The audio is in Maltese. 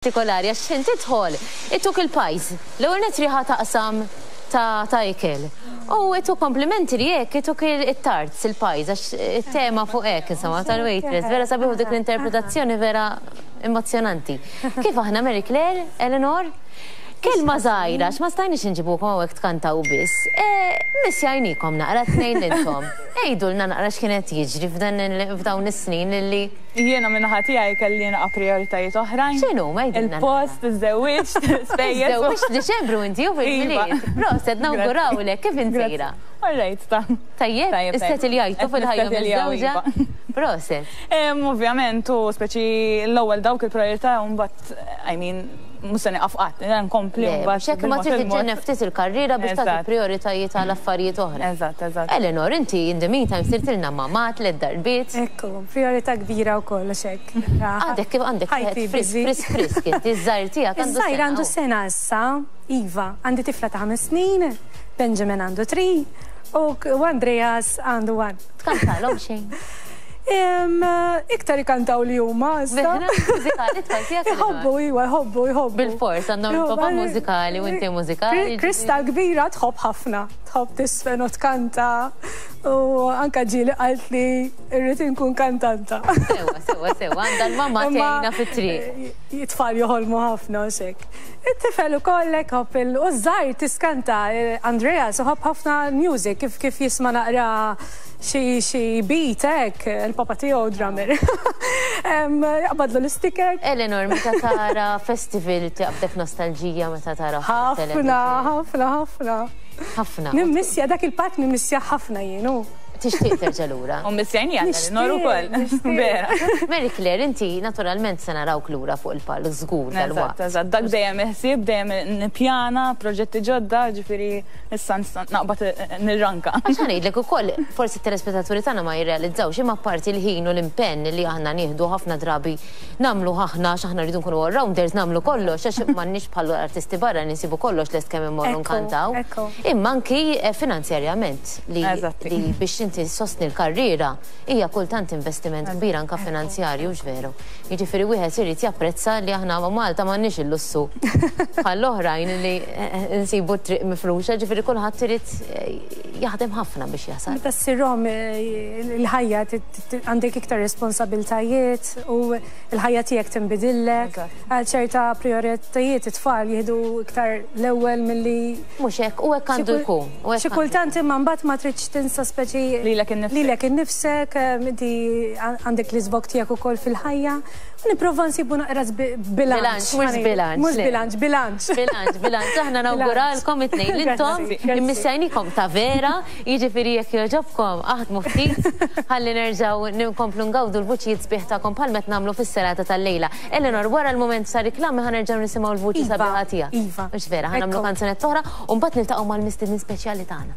Partikolari għax x'ħin tidħol ituk il-pies. L-ewwel nett riħa taqsam ta' ta' ikel. U ituk komplimenti li hekk ituk it-tarts, il-pies għax it-tema fuq hekk insomma tal-waitress. Vera sabiħ u dik l-interpretazzjoni vera emozzjonanti. Kif aħna Mary Claire, Eleanor? Kelma żgħira għax ma stajniex inġibukom hawnhekk tkantaw biss. Missjajniekom naqra t-tnejn intom. Għidulna naqra x'kien qed jiġri f'dawn is-snin li Jiena min-naħa tiegħi kelli naqa' prijoritajiet oħrajn. X'inhuma? Għidilna. Il-post, iżżewwiġt, spejjeż. Iżżewwiġt f'Diċembru inti u fil-Milied. Proset, nawgurawlek. Kif int sejra? All right, ta. Tajjeb? Issettiljajtu fil-ħajja miżżewġa? Proset. Ovvjament, u speċi l-ewwel dawk il-prijorità u mbagħad, I mean, mhux se nieqaf qatt, nkompli mbagħad. X'hekk ma trid iġġenneb ftit il-karriera biex tagħti prijoritajiet għal affarijiet oħra. Eżatt, eżatt. Eleanor, inti in the meantime sirtilna mamà tliet darbiet. Ekku, prijorità kbira wkoll għax hekk. Għadek kif għandek wieħed frisk, frisk, frisk inti, iż-żgħir tiegħek għandu sena. Iż-żgħir għandu sena issa, iva. Għandi tifla ta' ħames snin, Benjamin għandu three u Andreas għandu one. Tkantalhom xejn? Iktar ikantaw li huma issa. Mużikali tfal tiegħek. Iħobbu, iwa, jħobbu, jħobbu. Bil-fors għandhom il-papa mużikali u inti mużikali. Krista kbira tħobb ħafna, tħobb tisfen u tkanta u anka ġieli qalt li rrid inkun kantanta. Sewa, sewa, sewa, għandha l-mamma tgħinha fit-triq. It-tfal joħolmu ħafna u xek. It-tifel ukoll hekk ħobb il u żgħir tiskanta Andreas iħobb ħafna music kif kif jisma' naqra Xi xi beat hekk, il-papa tiegħu drummer. Jaqbadlu l-isticker. Eleanor, meta tara festival taqbdek nostalġija meta tara Ħafna, ħafna, ħafna. Ħafna. Nimmissja dak il-part nimmissja ħafna jien hu. Tixtieq terġa' lura. U mmissjajni għal Eleanor ukoll. Vera. Mary Claire, inti naturalment se narawk lura fuq il-palk żgur dalwaqt. Eżatt, eżatt. Dak dejjem il-ħsieb, dejjem nippjana proġetti ġodda, ġifieri Issa nista' naqbad nirranka. Għax ħa ngħidlek ukoll, forsi t-telespettaturi tagħna ma jirrealizzawx, imma apparti l-ħin u l-impenn li aħna nieħdu ħafna drabi nagħmluh aħna għax aħna rridu nkunu all-rounders nagħmlu kollox għax m'għandniex bħal artisti barra li nsibu kollox lest kemm immorru nkantaw. Imma anki finanzjarjament li biex inti ssostni l-karriera hija kultant investiment kbir anke finanzjarju, hux veru? Jiġifieri wieħed irid japprezza li aħna Malta m'għandniex il-lussu bħall-oħrajn li nsibu t-triq mifruxa, ġifieri kulħadd irid jaħdem ħafna biex jasal. Meta ssir omm il-ħajja għandek iktar responsabiltajiet u l-ħajja tiegħek tinbidillek. Għal ċerta prijoritajiet it-tfal jieħdu iktar l-ewwel milli. Mhux hekk, u hekk għandu jkun. Xi kultant imma mbagħad ma tridx tinsa speċi. Lilek innifsek. Lilek innifsek, inti għandek l-iżvog tiegħek ukoll fil-ħajja. Nipprova nsibu naqra bilanċ. Bilanċ, mhux bilanċ. Mhux bilanċ, bilanċ. Bilanċ, bilanċ. Aħna nawguralkom it-tnejn li intom immissajnikom ta' vera, jiġifieri jekk jogħġobkom aħdmu ftit ħalli nerġgħu nkomplu ngawdu l-vuċijiet sbieħ tagħkom bħal qed nagħmlu fis-serata tal-lejla. Eleanor, wara l-mument sa riklami ħa nerġgħu nisimgħu l-vuċi sabiħa tiegħek. Iva. Mhux vera, ħa nagħmlu kanzunetta oħra u mbagħad niltaqgħu mal-mistiednin speċjali tagħna.